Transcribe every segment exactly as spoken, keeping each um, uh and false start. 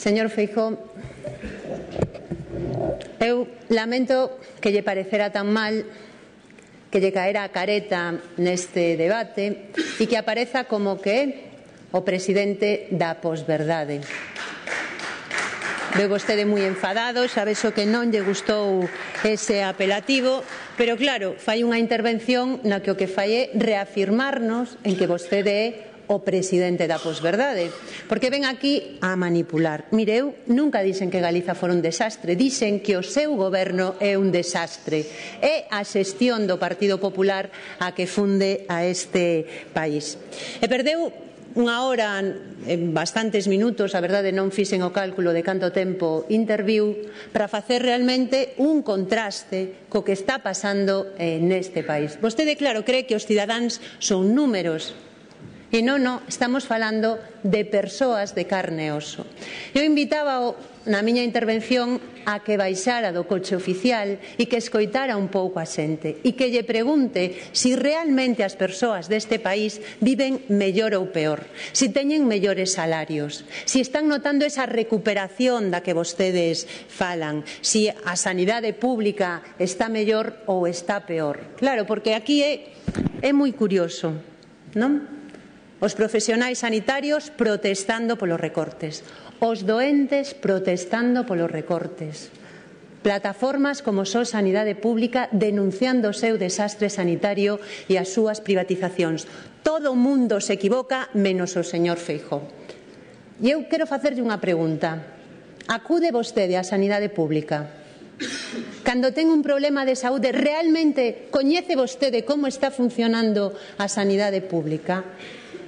Señor Feijóo, eu lamento que lle parecera tan mal que lle caera a careta neste debate e que apareza como que é o presidente da posverdade. Veo vostede moi enfadado, sabe xo que non lle gustou ese apelativo, pero claro, fai unha intervención na que o que fai é reafirmarnos en que vostede é o presidente da posverdade, porque ven aquí a manipular. Mire, eu nunca dixen que Galiza fora un desastre, dixen que o seu goberno é un desastre. É a xestión do Partido Popular a que funde a este país. E perdeu unha hora, en bastantes minutos, a verdade non fixen o cálculo de canto tempo interviu, para facer realmente un contraste co que está pasando neste país. Vostede, claro, cree que os cidadáns son números. E non, non, estamos falando de persoas de carne e oso. Eu invitaba na miña intervención a que baixara do coche oficial e que escoitara un pouco a xente e que lle pregunte si realmente as persoas deste país viven mellor ou peor, si teñen mellores salarios, si están notando esa recuperación da que vostedes falan, si a sanidade pública está mellor ou está peor. Claro, porque aquí é, é moi curioso, non? Os profesionais sanitarios protestando polos recortes, os doentes protestando polos recortes, plataformas como Só Sanidade Pública denunciando o seu desastre sanitario e as súas privatizacións. Todo o mundo se equivoca menos o señor Feijóo. E eu quero facerlle unha pregunta. Acude vostede á sanidade pública? Cando ten un problema de saúde, realmente coñece vostede como está funcionando a sanidade pública?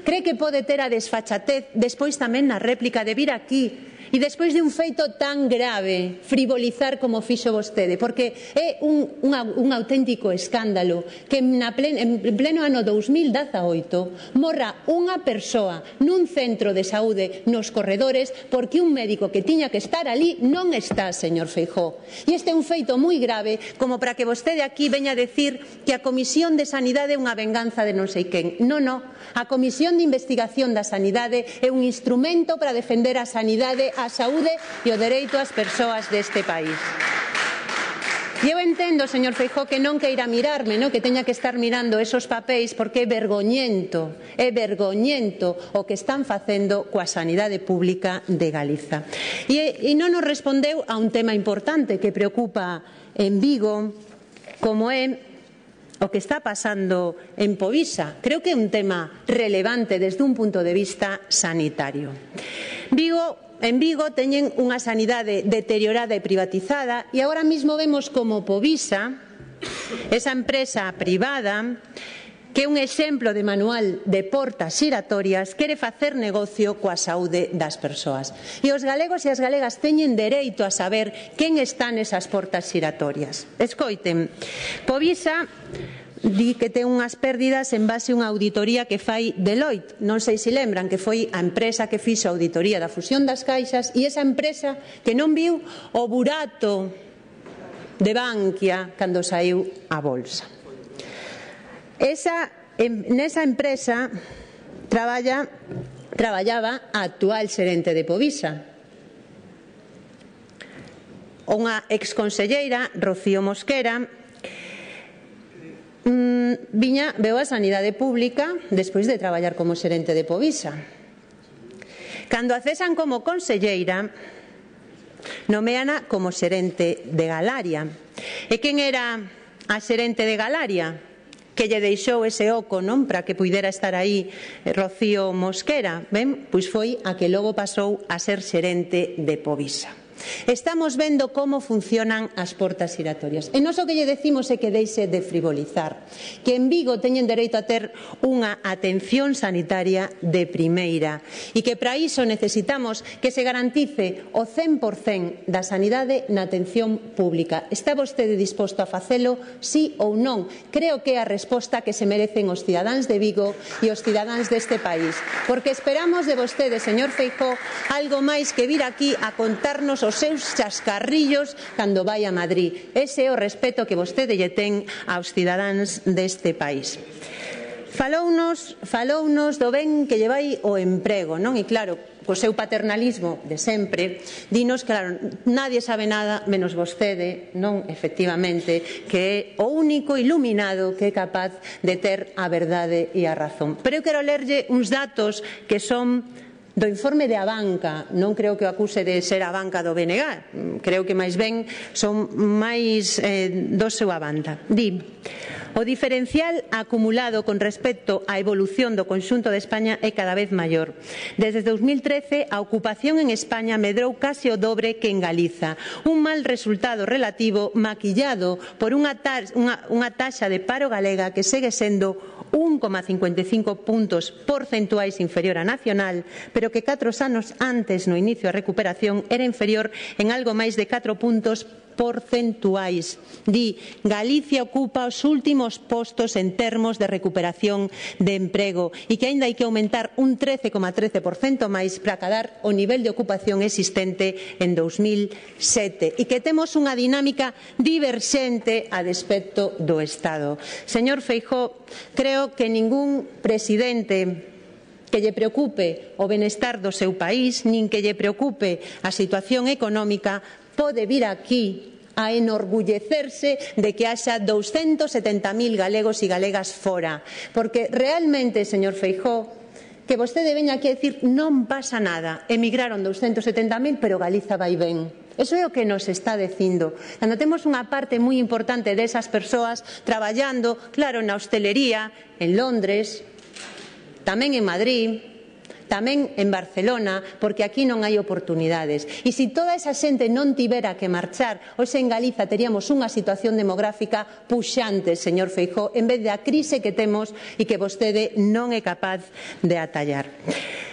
Cree que pode ter a desfachatez despois tamén na réplica de vir aquí e despois de un feito tan grave frivolizar como fixo vostede, porque é un, un, un auténtico escándalo que na plen, en pleno ano dous mil dezaoito morra unha persoa nun centro de saúde nos corredores porque un médico que tiña que estar ali non está, señor Feijóo. E este é un feito moi grave como para que vostede aquí veña a decir que a Comisión de Sanidade é unha venganza de non sei quen. Non, non. A Comisión de Investigación da Sanidade é un instrumento para defender a sanidade, a saúde e o dereito ás persoas deste país. E eu entendo, señor Feijóo, que non queira mirarme, no? Que teña que estar mirando esos papéis porque é vergoñento, é vergoñento o que están facendo coa sanidade pública de Galiza. E, e non nos respondeu a un tema importante que preocupa en Vigo, como é o que está pasando en Povisa. Creo que é un tema relevante desde un punto de vista sanitario. Vigo En Vigo teñen unha sanidade deteriorada e privatizada e agora mesmo vemos como Povisa, esa empresa privada, que é un exemplo de manual de portas xiratorias, quere facer negocio coa saúde das persoas. E os galegos e as galegas teñen dereito a saber quen está nesas portas xiratorias. Escoiten, Povisa di que ten unhas pérdidas en base a unha auditoría que fai Deloitte. Non sei se lembran que foi a empresa que fixo a auditoría da fusión das caixas e esa empresa que non viu o burato de Bankia cando saiu a bolsa. Esa, nesa empresa traballa, traballaba a actual xerente de Povisa, unha exconselleira, Rocío Mosquera, mm, viña, veu a sanidade pública despois de traballar como xerente de Povisa. Cando a cesan como conselleira, nomeana como xerente de Galaria. E quen era a xerente de Galaria? Que lle deixou ese oco, non, para que puidera estar aí Rocío Mosquera. Ben, pois foi a que logo pasou a ser xerente de Povisa. Estamos vendo como funcionan as portas giratorias. E nós o que lle decimos é que deixe de frivolizar, que en Vigo teñen dereito a ter unha atención sanitaria de primeira e que para iso necesitamos que se garantice o cen por cen da sanidade na atención pública. Está vostede disposto a facelo, sí ou non? Creo que é a resposta que se merecen os cidadáns de Vigo e os cidadáns deste país, porque esperamos de vostede, señor Feijóo, algo máis que vir aquí a contarnos os seus chascarrillos cando vai a Madrid. Ese é o respeto que vostede lle ten aos cidadáns deste país. Falounos, falounos do ben que lle vai o emprego, non? E claro, co seu paternalismo de sempre, dinos, claro, nadie sabe nada menos vostede, non, efectivamente, que é o único iluminado que é capaz de ter a verdade e a razón. Pero eu quero lerlle uns datos que son do informe de Abanca. Non creo que o acuse de ser a banca do B N G, creo que máis ben son máis eh, do seu a banda. Di: o diferencial acumulado con respecto á evolución do conxunto de España é cada vez maior. Desde dous mil trece, a ocupación en España medrou case o dobre que en Galiza. Un mal resultado relativo maquillado por unha, unha, unha taxa de paro galega que segue sendo un coma cincuenta e cinco puntos porcentuais inferior á nacional, pero que catro anos antes, no inicio da recuperación, era inferior en algo máis de catro puntos porcentuais. Di: Galicia ocupa os últimos postos en termos de recuperación de emprego e que aínda hai que aumentar un trece coma trece por cento máis para acadar o nivel de ocupación existente en dous mil sete e que temos unha dinámica diverxente a despecto do Estado. Señor Feijóo, creo que ningún presidente que lle preocupe o benestar do seu país, nin que lle preocupe a situación económica, pode vir aquí a enorgullecerse de que haxa douscentos setenta mil galegos e galegas fora. Porque realmente, señor Feijóo, que vostede veña aquí a dicir non pasa nada, emigraron douscentos setenta mil, pero Galiza vai ben. Eso é o que nos está dicindo. Cando temos unha parte moi importante desas persoas traballando, claro, na hostelería, en Londres, tamén en Madrid, tamén en Barcelona, porque aquí non hai oportunidades. E se toda esa xente non tivera que marchar, hoxe en Galiza teríamos unha situación demográfica puxante, señor Feijóo, en vez da crise que temos e que vostede non é capaz de atallar.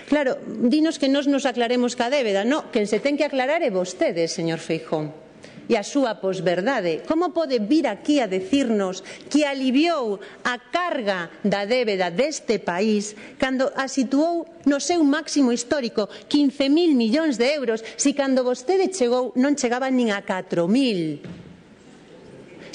Claro, dinos que nos nos aclaremos ca débeda. No, quen se ten que aclarar é vostede, señor Feijóo. E a súa posverdade. Como pode vir aquí a decirnos que aliviou a carga da débeda deste país cando a situou no seu máximo histórico, quince mil millóns de euros, se cando vostede chegou non chegaban nin a catro mil?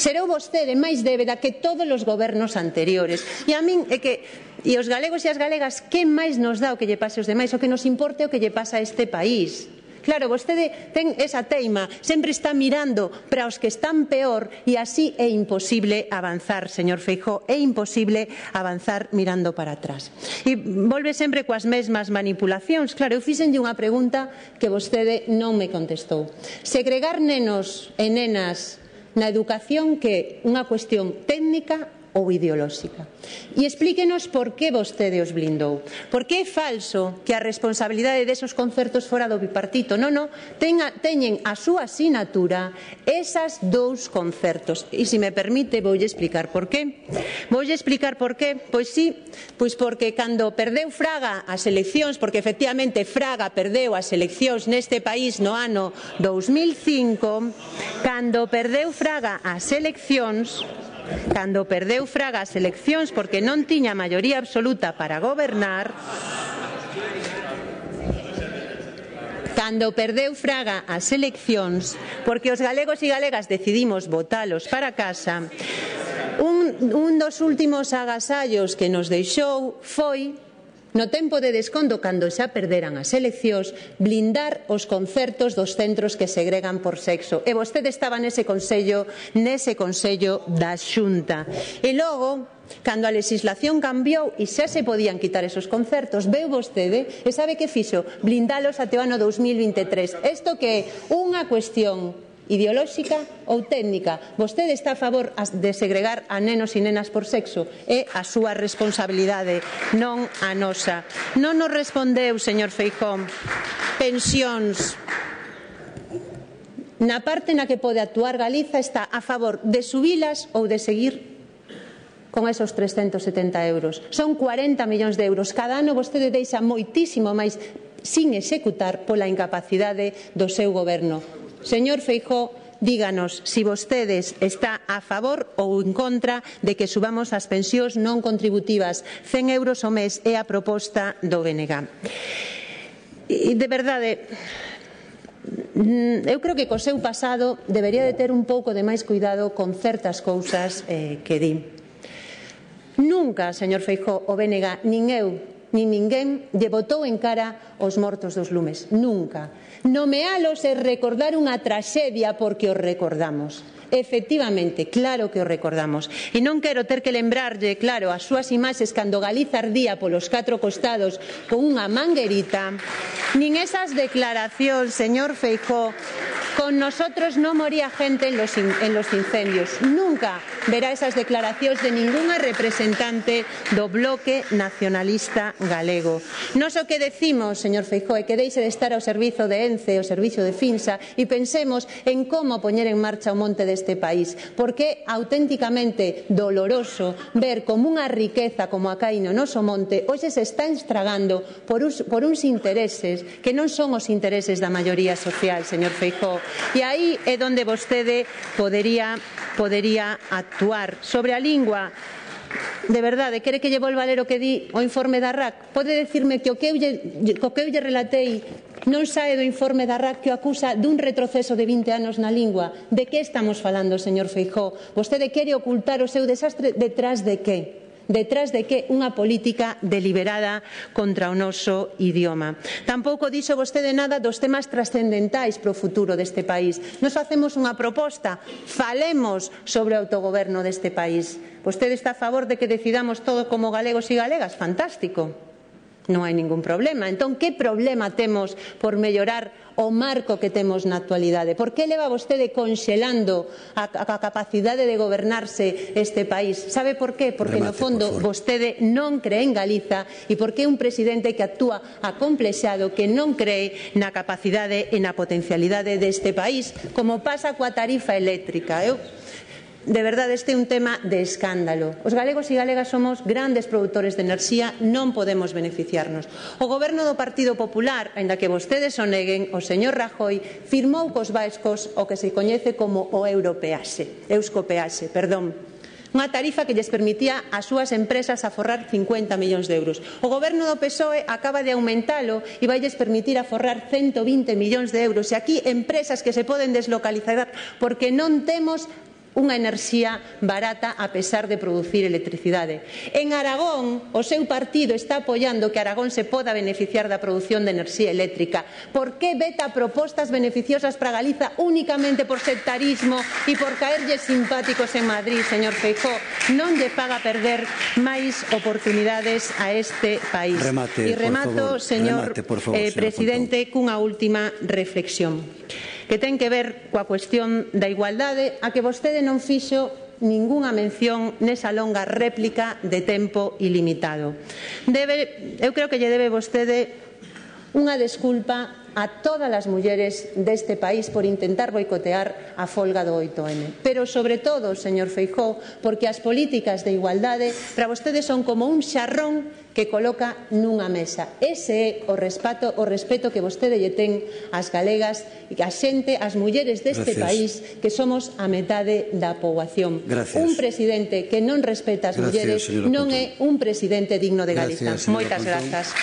Serou vostede máis débeda que todos os gobernos anteriores. E a min é que, e os galegos e as galegas, que máis nos dá o que lle pase aos demais? O que nos importe o que lle pasa a este país. Claro, vostede ten esa teima, sempre está mirando para os que están peor e así é imposible avanzar, señor Feijóo, é imposible avanzar mirando para atrás. E volve sempre coas mesmas manipulacións. Claro, eu fixenlle unha pregunta que vostede non me contestou. Segregar nenos e nenas na educación que é unha cuestión técnica ou ideolóxica. E explíquenos por que vostede os blindou. Por que é falso que a responsabilidade desos concertos fora do bipartito? Non, non, tenga, teñen a súa asinatura esas dous concertos. E se me permite, voulle explicar por qué. Voulle explicar por qué. Pois sí, pois porque cando perdeu Fraga as eleccións, porque efectivamente Fraga perdeu as eleccións neste país no ano dous mil cinco, cando perdeu Fraga as eleccións, Cando perdeu Fraga as eleccións porque non tiña maioría absoluta para gobernar, cando perdeu Fraga as eleccións porque os galegos e galegas decidimos votalos para casa, un, un dos últimos agasallos que nos deixou foi, no tempo de desconto, cando xa perderan as eleccións, blindar os concertos dos centros que segregan por sexo. E vostede estaba nese consello, nese consello da Xunta. E logo, cando a legislación cambiou e xa se podían quitar esos concertos, veu vostede e sabe que fixo? Blindalos até o ano dous mil vinte e tres. Isto que é unha cuestión ideolóxica ou técnica. Vostede está a favor de segregar a nenos e nenas por sexo. É a súa responsabilidade, non a nosa. Non nos respondeu, señor Feijóo. Pensións. na parte na que pode actuar Galiza está a favor de subilas ou de seguir con esos trescentos setenta euros. Son cuarenta millóns de euros. Cada ano vostede deixa moitísimo máis sin executar pola incapacidade do seu goberno. Señor Feijóo, díganos se si vostedes está a favor ou en contra de que subamos as pensións non contributivas. cen euros ao mes é a proposta do B N G. E, de verdade, eu creo que co seu pasado debería de ter un pouco de máis cuidado con certas cousas eh, que di. Nunca, señor Feijóo, o B N G, nin eu, nin ninguén, lle botou en cara os mortos dos lumes. Nunca. Nomealos é recordar unha traxedia porque os recordamos. Efectivamente, claro que o recordamos. E non quero ter que lembrarlle, claro, as súas imaxes cando Galiza ardía polos catro costados con unha manguerita, nin esas declaracións, señor Feijóo, con nosotros non moría gente en los, in, en los incendios. Nunca verá esas declaracións de ningunha representante do Bloque Nacionalista Galego. Nos o que decimos, señor Feijóo, é que deixe de estar ao servizo de ENCE, ao servizo de FINSA, e pensemos en como poñer en marcha o monte de este país, porque é auténticamente doloroso ver como unha riqueza como a caíno no noso monte hoxe se está estragando por, us, por uns intereses que non son os intereses da maioría social, señor Feijóo. E aí é onde vostede podería, podería actuar. Sobre a lingua, de verdade, quere que lle volva a ler o que di o informe da R A C? Pode decirme que o que eu lle, o que eu lle relatei non sae do informe da R A C que o acusa dun retroceso de vinte anos na lingua? De que estamos falando, señor Feijóo? Vostede quere ocultar o seu desastre detrás de que? Detrás de que unha política deliberada contra o noso idioma. Tampouco dixo vostede nada dos temas trascendentais para o futuro deste país. Nos facemos unha proposta, falemos sobre o autogoberno deste país. Vostede está a favor de que decidamos todo como galegos e galegas? Fantástico. Non hai ningún problema. Entón, que problema temos por mellorar o marco que temos na actualidade? Por que leva vostede conxelando a, a capacidade de gobernarse este país? Sabe por qué? Porque no fondo vostede non cree en Galiza e porque é un presidente que actúa acomplexado, que non cree na capacidade e na potencialidade deste país, como pasa coa tarifa eléctrica. Eu De verdade, este é un tema de escándalo. Os galegos e galegas somos grandes produtores de enerxía, non podemos beneficiarnos. O goberno do Partido Popular, aínda que vostedes o neguen, o señor Rajoy firmou cos vascos o que se coñece como o europeaxe, euskopeaxe, perdón. Unha tarifa que lles permitía ás súas empresas aforrar cincuenta millóns de euros. O goberno do P S O E acaba de aumentalo e vailles permitir aforrar ciento vinte millóns de euros. E aquí empresas que se poden deslocalizar porque non temos unha enerxía barata a pesar de producir electricidade. En Aragón, o seu partido está apoiando que Aragón se poda beneficiar da produción de enerxía eléctrica. Por que veta propostas beneficiosas para Galiza únicamente por sectarismo e por caerlle simpáticos en Madrid, señor Feijóo? Non lle faga perder máis oportunidades a este país. Remate, e remato, por favor, señor remate, por favor, eh, presidente, cunha última reflexión que ten que ver coa cuestión da igualdade, a que vostede non fixo ningunha mención nesa longa réplica de tempo ilimitado. Debe, eu creo que lle debe vostede unha desculpa a todas as mulleres deste país por intentar boicotear a folga do oito eme. Pero, sobre todo, señor Feijóo, porque as políticas de igualdade para vostedes son como un xarrón que coloca nunha mesa. Ese é o respeto, o respeto que vostede lle ten ás galegas e a xente, as mulleres deste Gracias. país, que somos a metade da poboación. Gracias. Un presidente que non respeta as Gracias, mulleres non Pontón. é un presidente digno de Galiza. Gracias, Moitas Pontón. grazas.